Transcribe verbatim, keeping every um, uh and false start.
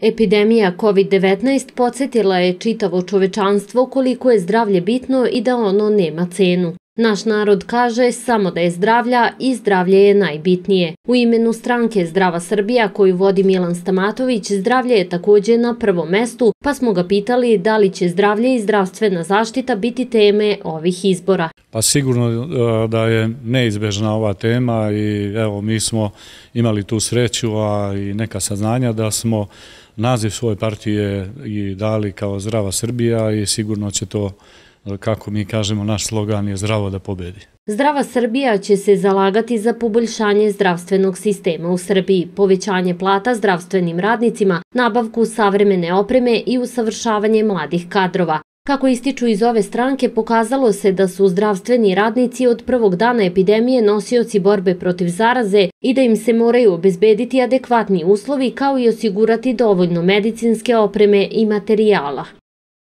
Epidemija kovid devetnaest podsjetila je čitavo čovečanstvo koliko je zdravlje bitno i da ono nema cenu. Naš narod kaže samo da je zdravlja i zdravlje je najbitnije. U imenu stranke Zdrava Srbija koju vodi Milan Stamatović, zdravlje je također na prvom mestu, pa smo ga pitali da li će zdravlje i zdravstvena zaštita biti teme ovih izbora. Pa sigurno da je neizbežna ova tema i evo mi smo imali tu sreću, a i neka saznanja da smo naziv svoje partije i dali kao Zdrava Srbija i sigurno će to, kako mi kažemo, naš slogan je zdravo da pobedi. Zdrava Srbija će se zalagati za poboljšanje zdravstvenog sistema u Srbiji, povećanje plata zdravstvenim radnicima, nabavku savremene opreme i usavršavanje mladih kadrova. Kako ističu iz ove stranke, pokazalo se da su zdravstveni radnici od prvog dana epidemije nosioci borbe protiv zaraze i da im se moraju obezbediti adekvatni uslovi kao i osigurati dovoljno medicinske opreme i materijala.